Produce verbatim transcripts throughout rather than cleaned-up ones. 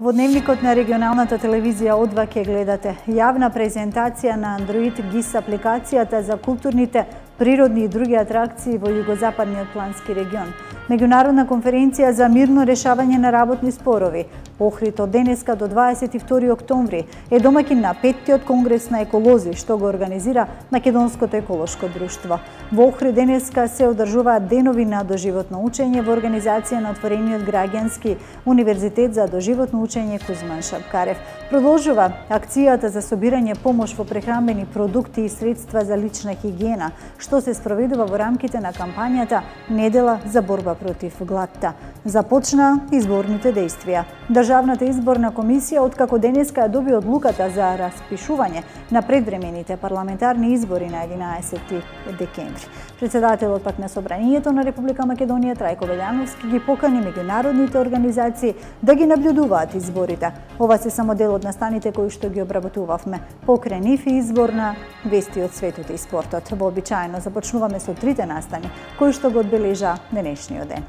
Во дневникот на регионалната телевизија О два ќе гледате јавна презентација на Android G I S апликацијата за културните, природни и други атракции во југозападниот плански регион. Меѓународна конференција за мирно решавање на работни спорови. Охрид од денеска до дваесет и втори октомври е домаќин на петтиот конгрес на еколози, што го организира Македонското еколошко друштво. Во Охрид денеска се одржуваат денови на доживотно учење во организација на отворениот граѓански универзитет за доживотно учење Кузман Шапкарев. Продолжува акцијата за собирање помош во прехранбени продукти и средства за лична хигиена, што се спроведува во рамките на кампањата Недела за борба против гладта. Започна изборните дејствија. Државната изборна комисија откако денеска ја доби одлуката за распишување на предвремените парламентарни избори на единаесети декември. Председателот пак на Собранието на Република Македонија Трајко Велјановски ги покани меѓународните организации да ги наблюдуваат изборите. Ова се само дел од настаните кои што ги обработувавме. Покрај нив и избор на вести од светот и спортот. Вообичаено започнуваме со трите настани кои што го одбележа денешниот ден.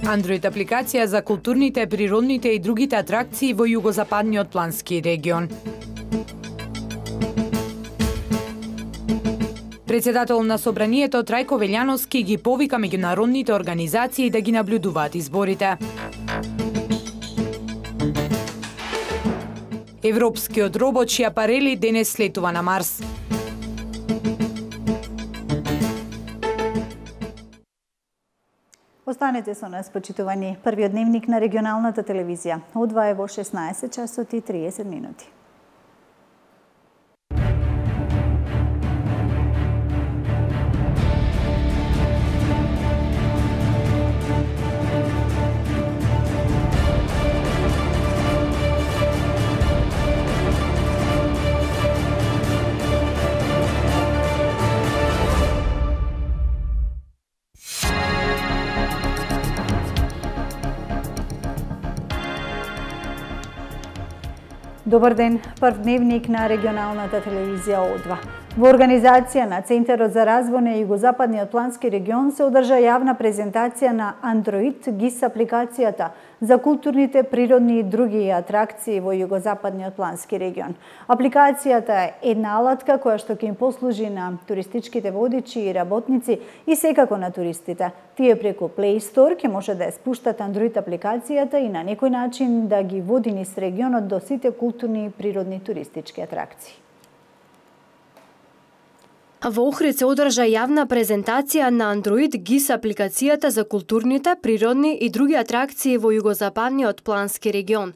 Android апликација за културните, природните и другите атракции во југозападниот плански регион. Председател на Собранието Трајко Велјановски ги повика меѓународните организации да ги наблюдуваат изборите. Европскиот робот Шиапарели денес слетува на Марс. Останете со нас, почитувани. Првиот дневник на регионалната телевизија. О два е во шеснаесет часот и триесет минути. Добар ден, прв дневник на регионалната телевизија О два. Во организација на Центарот за развој на југозападниот плански регион се одржа јавна презентација на Android G I S апликацијата за културните, природни и други атракции во југозападниот плански регион. Апликацијата е една алатка која што ќе им послужи на туристичките водичи и работници и секако на туристите. Тие преку Play Store ќе може да ја спуштат Android апликацијата и на некој начин да ги води низ регионот до сите културни и природни туристички атракции. Во Охрид се одржа јавна презентација на Android G I S апликацијата за културните, природни и други атракции во југозападниот плански регион.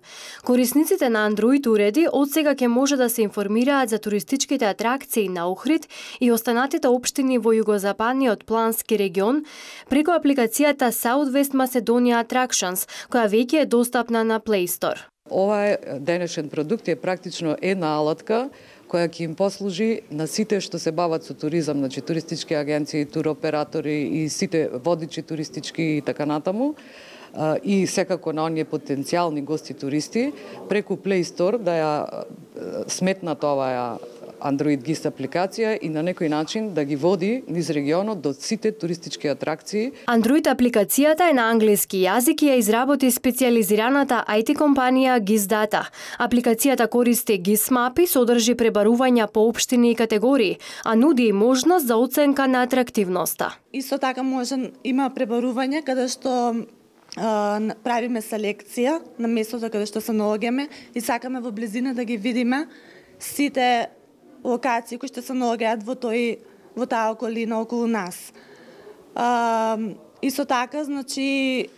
Корисниците на Android уреди одсега ќе може да се информираат за туристичките атракции на Охрид и останатите општини во југозападниот плански регион преку апликацијата Southwest Macedonia Attractions, која веќе е достапна на Play Store. Ова денешен продукт е практично една алатка која ќе им послужи на сите што се бават со туризам, значи туристички агенции, туроператори и сите водичи туристички и така натаму, и секако на оние потенцијални гости туристи, преку Play Store да ја сметнат оваа Android G I S апликација и на некој начин да ги води низ регионот до сите туристички атракции. Android апликацијата е на англиски јазик и ја изработи специјализираната ай ти компанија G I S Data. Апликацијата користи G I S мапи, содржи пребарувања по општини и категории, а нуди и можност за оценка на атрактивноста. Исто така може има пребарување каде што Uh, правиме селекција на местото каде што се наоѓаме и сакаме во близина да ги видиме сите локации кои што се наоѓаат во тој во таа околина околу нас. Uh, исто така, значи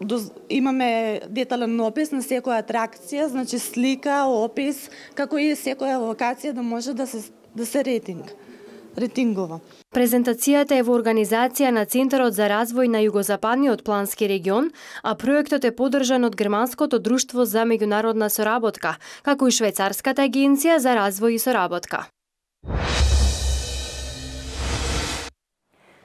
доз, имаме детален опис на секоја атракција, значи слика, опис, како и секоја локација да може да се да се рейтинг. Ретингова. Презентацијата е во организација на Центарот за развој на југозападниот плански регион, а проектот е поддржан од Германското друштво за меѓународна соработка, како и Швајцарската агенција за развој и соработка.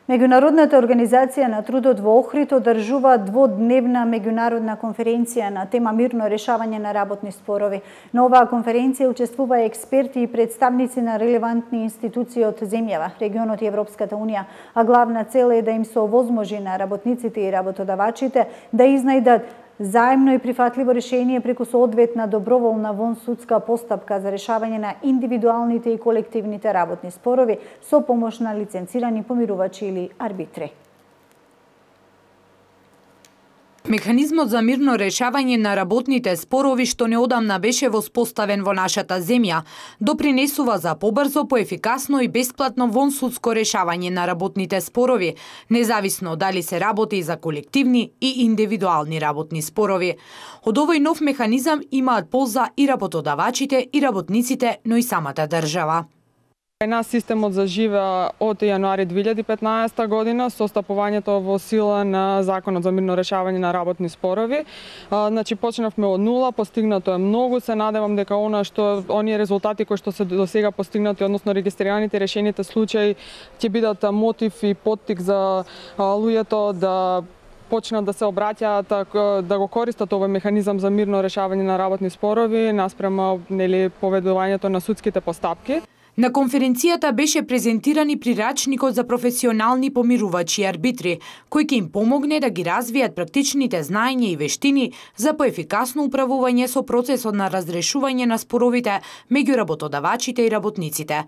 Меѓународната организација на трудот во Охрид одржува дводневна меѓународна конференција на тема мирно решавање на работни спорови. На оваа конференција учествува експерти и представници на релевантни институции од земјава, регионот и Европската унија, а главна цел е да им се овозможи на работниците и работодавачите да изнајдат заемно и прифатливо решение преку соодветна доброволна вонсудска постапка за решавање на индивидуалните и колективните работни спорови со помош на лиценцирани помирувачи или арбитри. Механизмот за мирно решавање на работните спорови што неодамна беше воспоставен во нашата земја, допринесува за побрзо, поефикасно и бесплатно вонсудско решавање на работните спорови, независно дали се работи за колективни и индивидуални работни спорови. Од овој нов механизам имаат полза и работодавачите и работниците, но и самата држава. Нас системот заживеа од јануари две илјади и петнаесета година со стапувањето во сила на Законот за мирно решавање на работни спорови. А, значи почнавме од нула, постигнато е многу, се надевам дека она што оние резултати кои што се до сега постигнати, односно регистрираните решените случаи, ќе бидат мотив и поттик за а, луѓето да почнат да се обраќаат, да го користат овој механизам за мирно решавање на работни спорови наспрема нели поведувањето на судските постапки. На конференцијата беше презентиран и прирачникот за професионални помирувачи и арбитри, кој ќе им помогне да ги развијат практичните знаења и вештини за поефикасно управување со процесот на разрешување на споровите меѓу работодавачите и работниците.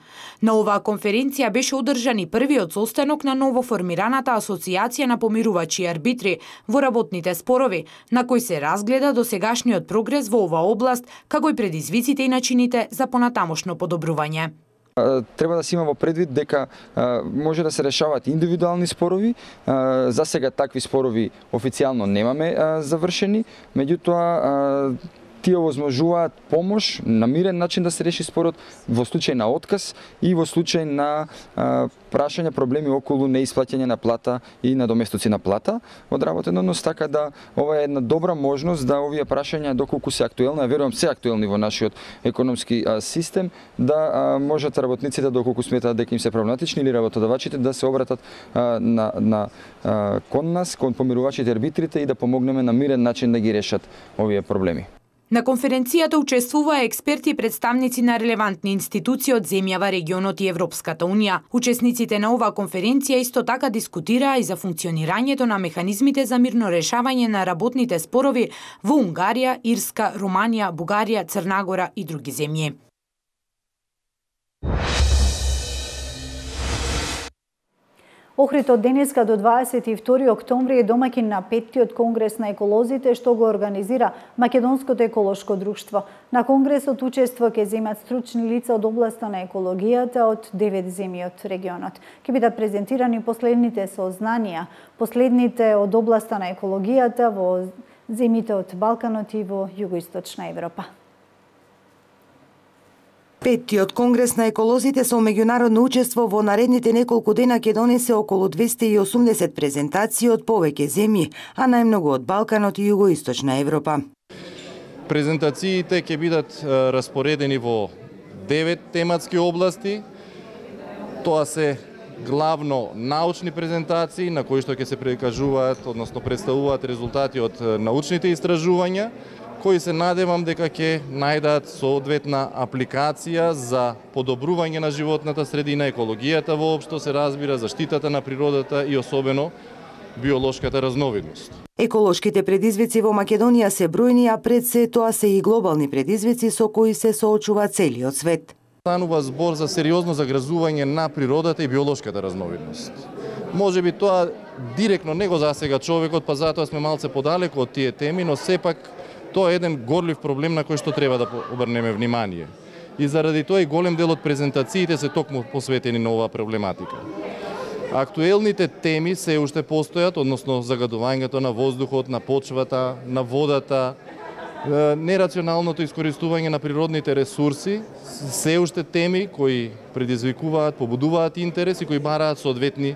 На оваа конференција беше одржан и првиот состанок на новоформираната Асоциација на помирувачи и арбитри во работните спорови, на кој се разгледа досегашниот прогрес во оваа област, како и предизвиците и начините за понатамошно подобрување. Треба да се има во предвид дека а, може да се решаваат индивидуални спорови. А, за сега такви спорови официјално немаме а, завршени, меѓутоа а, тие овозможуваат помош на мирен начин да се реши спорот во случај на отказ и во случај на а, прашање проблеми околу неисплаќање на плата и надоместоци на плата од работен однос, така да ова е една добра можност да овие прашања доколку се актуелни, а верувам се актуелни во нашиот економски а, систем, да а, можат работниците доколку сметаат дека им се проблематични или работодавачите да се обратат а, на, на а, кон нас, кон помирувачите и арбитрите и да помогнеме на мирен начин да ги решат овие проблеми. На конференцијата учествуваа експерти и представници на релевантни институции од земјава, регионот и Европската унија. Учесниците на оваа конференција исто така дискутираа и за функционирањето на механизмите за мирно решавање на работните спорови во Унгарија, Ирска, Руманија, Бугарија, Црнагора и други земји. Охрид од денеска до дваесет и втори октомври е домаќин на петтиот конгрес на еколозите што го организира Македонското еколошко друштво. На конгресот учество ќе земат стручни лица од областа на екологијата од девет земји од регионот. Ќе бидат презентирани последните сознанија, последните од областа на екологијата во земјите од Балканот и во југоисточна Европа. Петтиот конгрес на еколозите со меѓународно учество во наредните неколку дена ќе донесе околу двесте и осумдесет презентации од повеќе земји, а најмногу од Балканот и југоисточна Европа. Презентациите ќе бидат распоредени во девет тематски области. Тоа се главно научни презентации на кои што ќе се прикажуваат, односно представуваат резултати од научните истражувања, кои се надевам дека ќе најдат соодветна апликација за подобрување на животната средина, екологијата воопшто се разбира, заштитата на природата и особено биолошката разновидност. Еколошките предизвици во Македонија се бројни, а пред се тоа се и глобални предизвици со кои се соочува целиот свет. Станува збор за сериозно загрозување на природата и биолошката разновидност. Може би тоа директно не го засега човекот, па затоа сме малце подалеку од тие теми, но сепак тоа е еден горлив проблем на кој што треба да обрнеме внимание. И заради тоа и голем дел од презентациите се токму посветени на оваа проблематика. Актуелните теми се уште постојат, односно загадувањето на воздухот, на почвата, на водата, нерационалното искористување на природните ресурси, се уште теми кои предизвикуваат, побудуваат интерес и кои бараат соодветни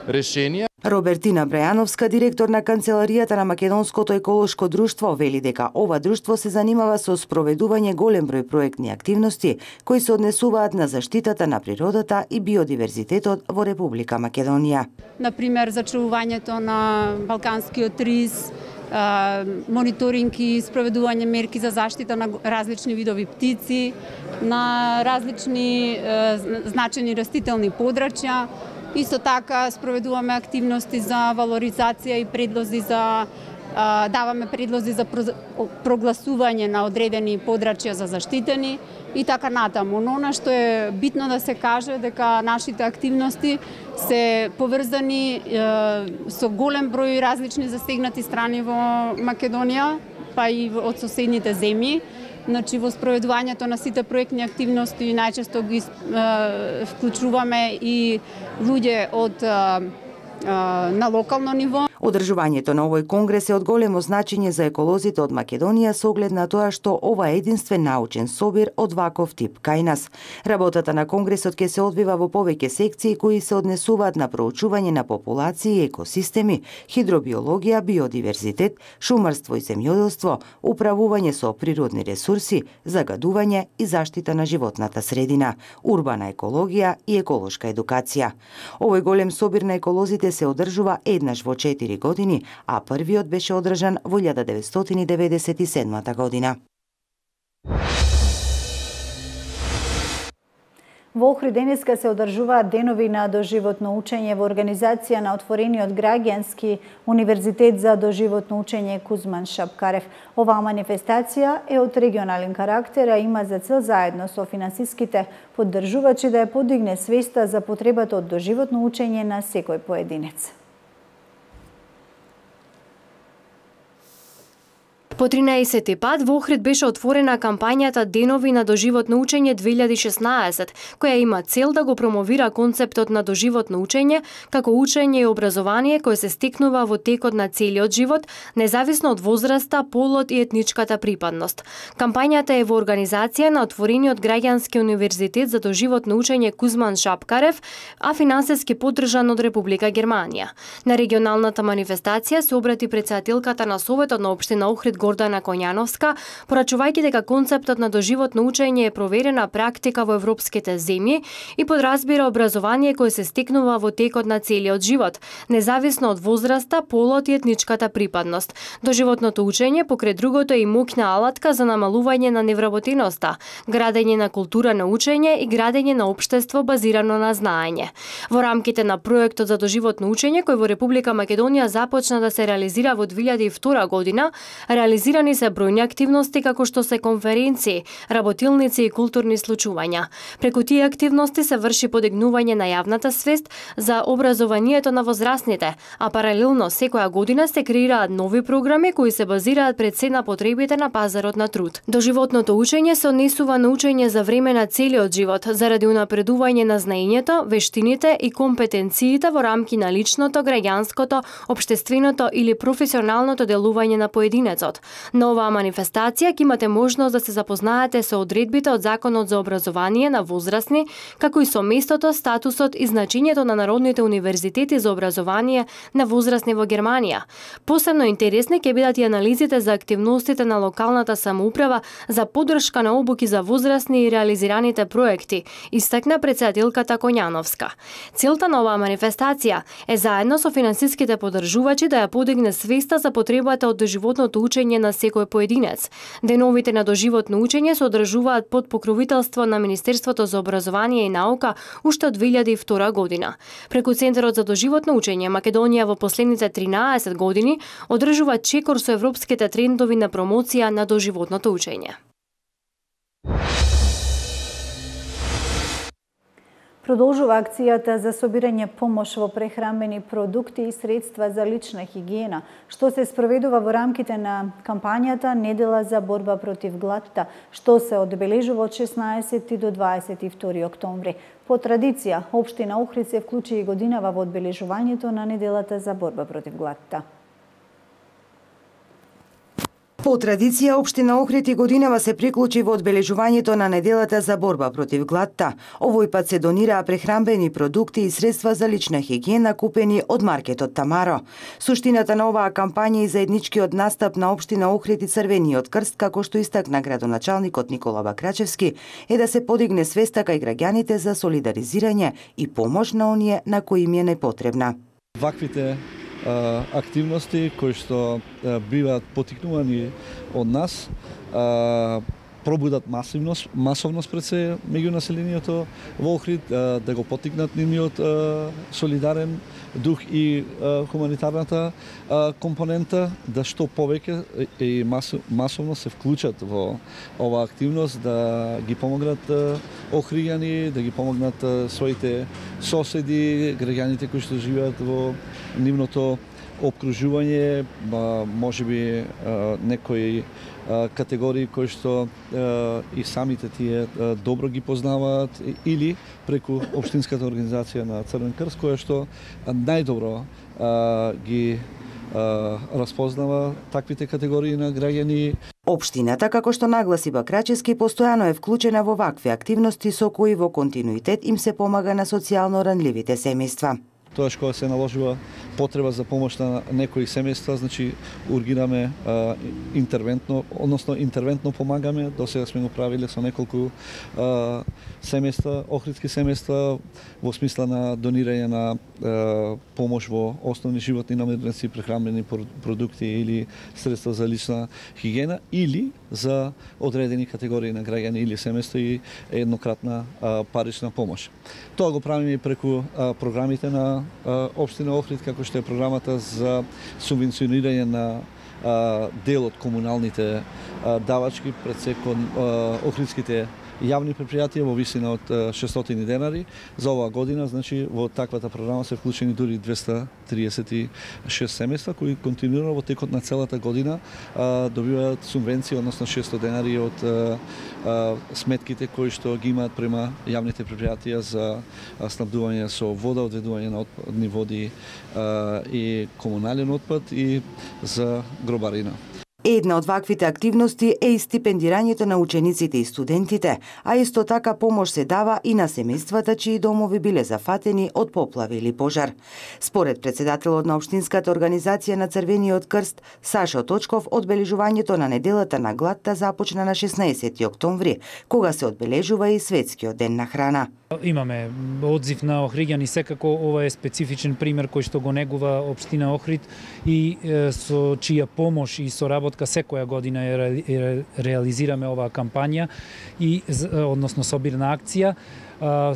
решенија. Робертина Брајановска, директор на Канцеларијата на Македонското еколошко друштво, вели дека ова друштво се занимава со спроведување голем број проектни активности кои се однесуваат на заштитата на природата и биодиверзитетот во Република Македонија. Например, зачувувањето на балканскиот рис, мониторинг и спроведување мерки за заштита на различни видови птици, на различни значени растителни подрачја. Исто така спроведуваме активности за валоризација и предлози за даваме предлози за прогласување на одредени подрачја за заштитени и така натаму. Но она што е битно да се каже дека нашите активности се поврзани со голем број различни засегнати страни во Македонија, па и од соседните земји. Значи, во спроведувањето на сите проектни активности најчесто ги е, вклучуваме и луѓе од е, на локално ниво. Одржувањето на овој конгрес е од големо значење за еколозите од Македонија со оглед на тоа што ова е единствен научен собир од ваков тип кај нас. Работата на конгресот ќе се одвива во повеќе секции кои се однесуваат на проучување на популации и екосистеми, хидробиологија, биодиверзитет, шумарство и земјоделство, управување со природни ресурси, загадување и заштита на животната средина, урбана екологија и еколошка едукација. Овој голем собир на еколозите се одржува еднаш во четири години, а првиот беше одржан во илјада деветстотини деветдесет и седма година. Во Охрид денеска се одржуваат денови на доживотно учење во организација на отворениот граѓански универзитет за доживотно учење Кузман Шапкарев. Оваа манифестација е од регионален карактер, а има за цел заедно со финансиските поддржувачи да ја подигне свеста за потребата од доживотно учење на секој поединец. По тринаесети пат во Охрид беше отворена кампањата Денови на доживотно учење две илјади и шеснаесет, која има цел да го промовира концептот на доживотно учење како учење и образование кое се стекнува во текот на целиот живот, независно од возраста, полот и етничката припадност. Кампањата е во организација на отворениот граѓански универзитет за доживотно учење Кузман Шапкарев, а финансиски поддржан од Република Германија. На регионалната манифестација се обрати претседателката на Советот на општина Охрид Гордана Коњановска, порачувајќи дека концептот на доживотно учење е проверена практика во европските земји и подразбира образование кое се стекнува во текот на целиот живот, независно од возраста, полот и етничката припадност. Доживотното учење покрај другото е и моќна алатка за намалување на невработеноста, градење на култура на учење и градење на општество базирано на знаење. Во рамките на проектот за доживотно учење кој во Република Македонија започна да се реализира во две илјади и втора година, реализирани се бројни активности како што се конференции, работилници и културни случувања. Преку тие активности се врши подигнување на јавната свест за образованието на возрастните, а паралелно секоја година се креираат нови програми кои се базираат пред се на потребите на пазарот на труд. Доживотното учење се однесува на учење за време на целиот живот, заради унапредување на знаењето, вештините и компетенциите во рамки на личното, граѓанското, општественото или професионалното делување на поединецот. На оваа манифестација ќе имате можност да се запознаете со одредбите од Законот за образование на возрастни, како и со местото, статусот и значењето на народните универзитети за образование на возрастни во Германија. Посебно интересни ќе бидат и анализите за активностите на локалната самоуправа за поддршка на обуки за возрастни и реализираните проекти, истакна претседателката Коњановска. Целта на оваа манифестација е заедно со финансиските поддржувачи да ја подигне свеста за потребата од доживотното учење на секој поединец. Деновите на доживотно учење се одржуваат под покровителство на Министерството за образование и наука уште од две илјади и втора година. Преку Центарот за доживотно учење Македонија во последните тринаесет години одржува чекор со европските трендови на промоција на доживотното учење. Продолжува акцијата за собирање помош во прехранбени продукти и средства за лична хигиена, што се спроведува во рамките на кампањата Недела за борба против гладта, што се одбележува од шеснаесети до дваесет и втори октомври. По традиција, општина Охрид се вклучи и годинава во одбележувањето на Неделата за борба против гладта. По традиција, општина Охрид и годинава се приклучи во одбележувањето на неделата за борба против гладта. Овој пат се донираа прехранбени продукти и средства за лична хигиена купени од маркетот Тамаро. Суштината на оваа кампања и заедничкиот настап на општина Охрид и Црвениот крст, како што истакна градоначалникот Никола Бакрачевски, е да се подигне свеста кај граѓаните за солидаризирање и помош на оние на кои им е најпотребна. Ваквите активности кои што биваат потикнувани од нас пробудат масивност, масовност пред се меѓу населението во Охрид, да го потикнат нивниот солидарен дух и хуманитарната компонента, да што повеќе и масовно се вклучат во оваа активност, да ги помогнат охријани, да ги помогнат своите соседи, граѓаните кои што живеат во нивното обкружување, можеби некои категории кои што и самите тие добро ги познаваат или преку општинската организација на Црвен крст, која што најдобро ги распознава таквите категории на граѓани. Општината, како што нагласи Бакрачевски, постојано е вклучена во вакви активности со кои во континуитет им се помага на социјално ранливите семејства. Тоаш кога се наложува потреба за помош на некои семејства, значи ургираме а, интервентно, односно интервентно помагаме. До сега сме го правиле со неколку а, семејства, охридски семејства, во смисла на донирање на а, помош во основни животни намирници, прехранбени продукти или средства за лична хигиена, или за одредени категории на граѓани или семејства и еднократна а, парична помош. Тоа го правиме и преку а, програмите на а, општина Охрид, како што е програмата за субвенционирање на а, дел од комуналните а, давачки пред секој охридските јавни предпријатија во висина од шестстотини денари. За оваа година, значи, во таквата програма се вклучени дури двеста триесет и шест семејства кои континуирано во текот на целата година а, добиваат субвенција, односно шестстотини денари од а, а, сметките кои што ги имаат према јавните предпријатија за снабдување со вода, одведување на отпадни води а, и комунален отпад и за гробарина. Една од ваквите активности е и стипендирањето на учениците и студентите, а исто така помош се дава и на семејствата чии домови биле зафатени од поплави или пожар. Според председателот на општинската организација на Црвениот крст Сашо Точков, одбележувањето на неделата на гладта започна на шеснаесети октомври, кога се одбележува и светскиот ден на храна. Имаме одзив на охриѓани, секако ова е специфичен пример кој што го негува општина Охрид и е, со чија помош и соработка секоја година е, ре, реализираме оваа кампања и односно собирна акција.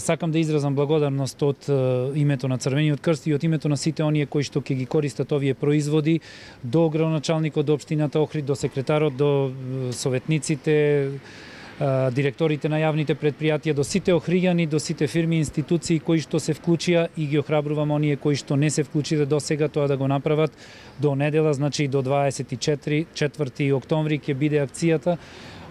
Сакам да изразам благодарност од името на Црвениот крст и од името на сите оние кои што ќе ги користат овие производи, до градоначалникот, до општината Охрид, до секретарот, до советниците, директорите на јавните предпријатија, до сите охриѓани, до сите фирми и институции кои што се вклучија, и ги охрабрувам оние кои што не се вклучиле до сега тоа да го направат до недела, значи до дваесет и четврти октомври ќе биде акцијата.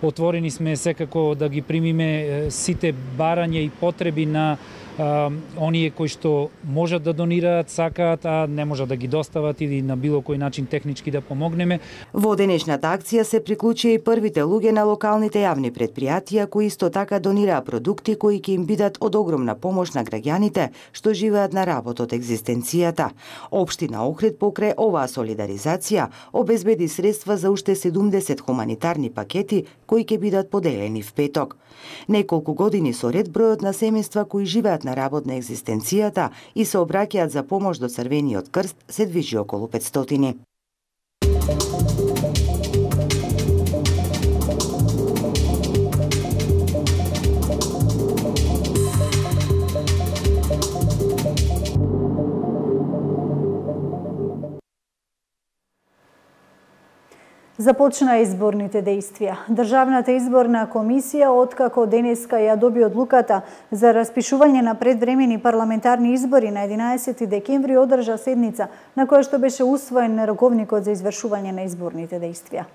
Отворени сме секако да ги примиме сите барања и потреби на а, оние кои што можат да донираат, сакаат, а не можат да ги достават или на било кој начин технички да помогнеме. Во денешната акција се приклучија и првите луѓе на локалните јавни предпријатија кои исто така донираа продукти кои ќе им бидат од огромна помош на граѓаните што живеат на работ од екзистенцијата. Општина Охрид покрај оваа солидаризација обезбеди средства за уште седумдесет хуманитарни пакети кои ќе бидат поделени в петок. Неколку години со ред бројот на семејства кои живеат на работ на екзистенцијата и се обраќаат за помош до Црвениот крст се движи околу петстотини. Започна изборните дејствија. Државната изборна комисија, откако денеска ја доби одлуката за распишување на предвремени парламентарни избори на единаесети декември, одржа седница на која што беше усвоен роковникот за извршување на изборните дејствија.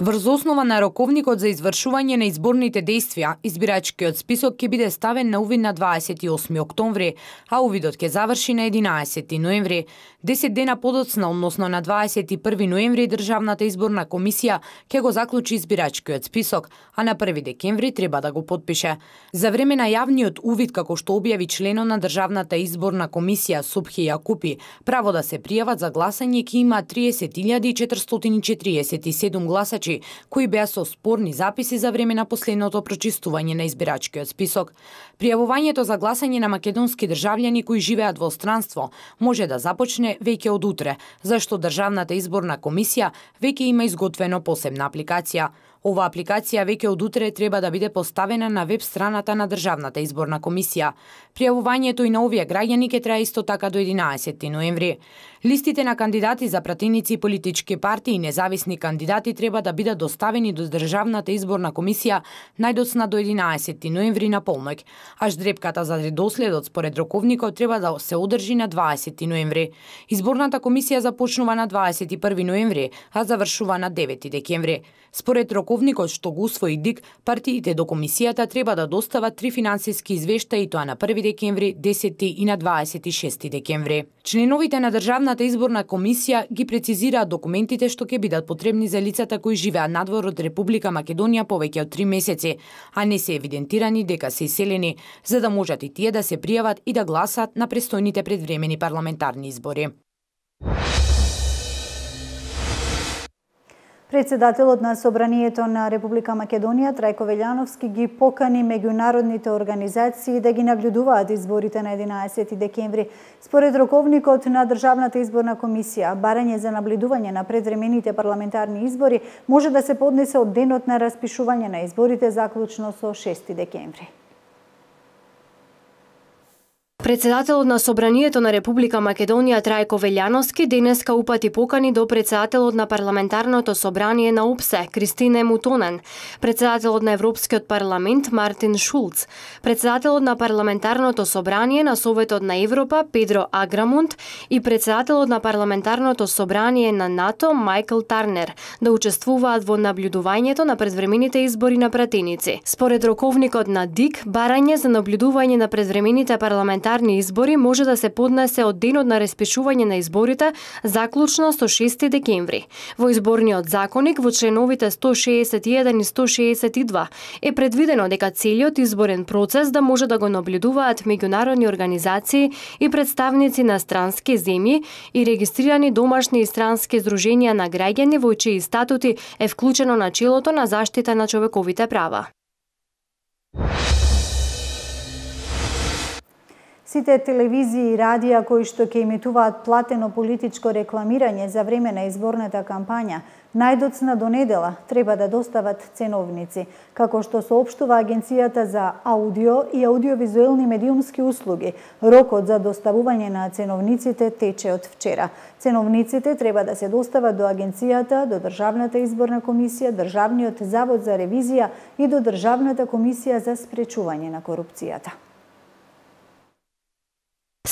Врз основа на роковникот за извршување на изборните действија, избирачкиот список ќе биде ставен на увид на дваесет и осми октомври, а увидот ќе заврши на единаесети ноември. десет дена подоцна, односно на дваесет и први ноември, Државната изборна комисија ќе го заклучи избирачкиот список, а на први декември треба да го потпише. За време на јавниот увид, како што објави членот на Државната изборна комисија Субхи Јакупи, право да се пријават за гласање ќе има триесет илјади четиристотини и четириесет и седум гласачи, кои беа со спорни записи за време на последното прочистување на избирачкиот список. Пријавувањето за гласање на македонски државјани кои живеат во странство може да започне веќе од утре, зашто Државната изборна комисија веќе има изготвено посебна апликација. Ова апликација веќе од утре треба да биде поставена на веб страната на Државната изборна комисија. Пријавувањето и на овие граѓани ќе трае исто така до единаесети ноември. Листите на кандидати за пратеници, политички партии и независни кандидати треба да бидат доставени до Државната изборна комисија најдоцна до единаесети ноември на полноќ, а ждрепката за редоследот според роковникот треба да се одржи на дваесети ноември. Изборната комисија започнува на дваесет и први ноември, а завршува на девети декември. Според роковникот што го усвои ДИК, партиите до комисијата треба да достават три финансиски извештаи, тоа на први декември, десети и на дваесет и шести декември. Членовите на Државната изборна комисија ги прецизираат документите што ќе бидат потребни за лицата кои живеат надвор од Република Македонија повеќе од три месеци, а не се евидентирани дека се иселени, за да можат и тие да се пријават и да гласат на престојните предвремени парламентарни избори. Председателот на Собранието на Република Македонија Трајко Велјановски ги покани меѓународните организации да ги наблюдуваат изборите на единаесети декември. Според роковникот на Државната изборна комисија, барање за наблюдување на предвремените парламентарни избори може да се поднесе од денот на распишување на изборите заклучно со шести декември. Председателот на Собранието на Република Македонија Трајко Велјановски денеска упати покани до председателот на Парламентарното собрание на ОПСЕ Кристине Мутонен, председателот на Европскиот парламент Мартин Шулц, председателот на Парламентарното собрание на Советот на Европа Педро Аграмунд и председателот на Парламентарното собрание на НАТО Мајкл Тарнер да учествуваат во наблюдувањето на предвремените избори на пратеници. Според роковникот на ДИК, барање за наблюдување на предвремените парламентарни избори може да се поднесе од денот на распишување на изборите заклучно со шести декември. Во изборниот законник во членовите сто шеесет и еден и сто шеесет и два е предвидено дека целиот изборен процес да може да го наблюдуваат меѓународни организации и представници на странски земји и регистрирани домашни и странски здруженија на граѓани во чии статути е вклучено начелото на заштита на човековите права. Сите телевизии и радија кои што ќе емитуваат платено политичко рекламирање за време на изборната кампања, најдоцна до недела треба да достават ценовници, како што соопштува Агенцијата за аудио и аудиовизуелни медиумски услуги. Рокот за доставување на ценовниците тече од вчера. Ценовниците треба да се достават до Агенцијата, до Државната изборна комисија, Државниот завод за ревизија и до Државната комисија за спречување на корупцијата.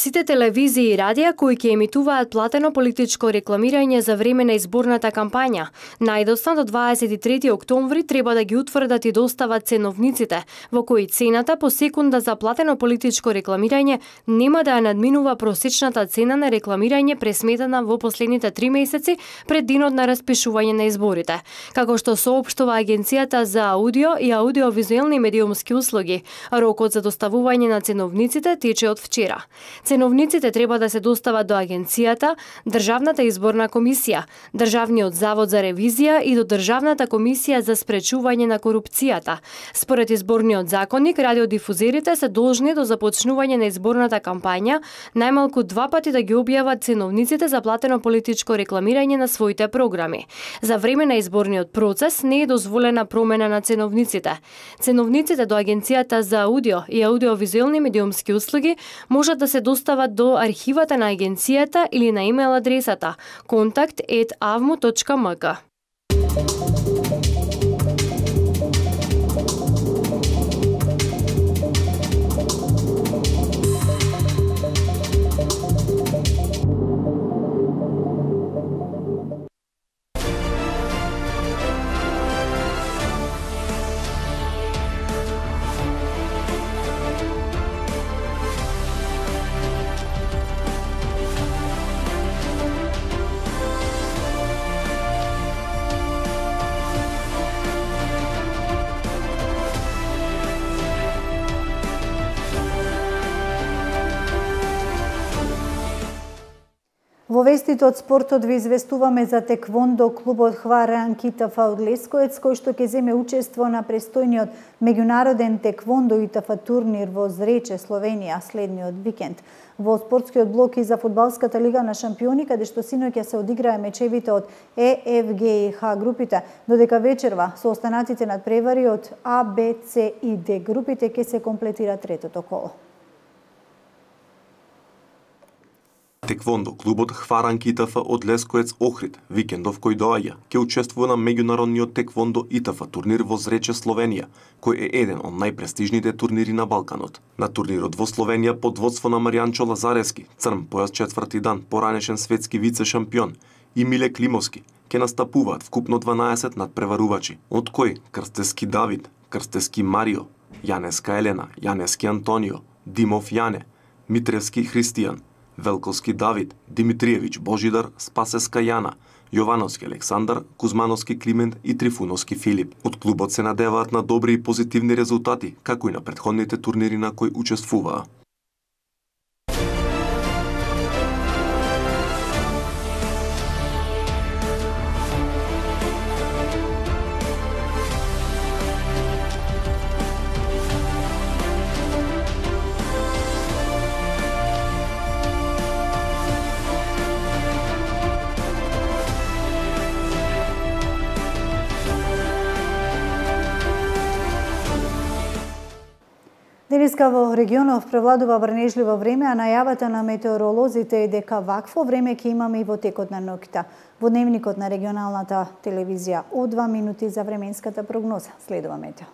Сите телевизии и радија кои ќе емитуваат платено политичко рекламирање за време на изборната кампања, најдоцна до дваесет и трети октомври треба да ги утврдат и достават ценовниците, во кои цената по секунда за платено политичко рекламирање нема да ја надминува просечната цена на рекламирање пресметана во последните три месеци пред денот на распишување на изборите. Како што соопштува Агенцијата за аудио и аудиовизуелни медиумски услуги, рокот за доставување на ценовниците тече од вчера. Ценовниците треба да се достават до Агенцијата, Државната изборна комисија, Државниот завод за ревизија и до Државната комисија за спречување на корупцијата. Според изборниот законник, радиодифузерите се должни до започнување на изборната кампања најмалку два пати да ги објават ценовниците за платено политичко рекламирање на своите програми. За време на изборниот процес не е дозволена промена на ценовниците. Ценовниците до Агенцијата за аудио и аудиовизуелни медиумски услуги можат да се достават до архивата на агенцијата или на имейл адресата контакт ет авму точка ем ка. Во вестите од спортот ви известуваме за теквондо клубот Хваранки И Т Ф од Лесковец, кој што ќе земе учество на престојниот меѓународен теквондо И Т Ф турнир во Зрече, Словенија, следниот викенд. Во спортскиот блок и за фудбалската лига на шампиони, каде што синоќа се одиграа мечевите од Е, Ф, Г и Х групите, додека вечерва со останатите надпревари од А, Б, С и Д групите ќе се комплетира третото коло. Теквондо клубот Хваранки И Т Ф од Лесковец Охрид, викендов кој доаѓа, ќе учествува на меѓународниот теквондо И Т Ф турнир во Зрече, Словенија, кој е еден од најпрестижните турнири на Балканот. На турнирот во Словенија под водство на Маријанчо Лазарески, црн појас четврти дан, поранешен светски вице шампион, и Миле Климовски, ќе настапуваат вкупно дванаесет надпреварувачи, од кои Крстески Давид, Крстески Марио, Јанеска Елена, Јанески Антонио, Димов Јане, Митревски Христијан, Велковски Давид, Димитриевич Божидар, Спасеска Јана, Јовановски Александар, Кузмановски Климент и Трифуновски Филип. Од клубот се надеваат на добри и позитивни резултати, како и на претходните турнири на кои учествуваа. Денеска во регионов превладува врнежливо време, а најавата на метеоролозите е дека вакво време ќе имаме и во текот на ноќта. Во дневникот на регионалната телевизија од два минути за временската прогноза. Следува метео.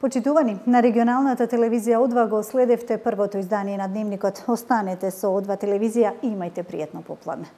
Почитувани, на регионалната телевизија О два го следевте првото издание на Дневникот. Останете со О два телевизија и имајте пријатно попладне.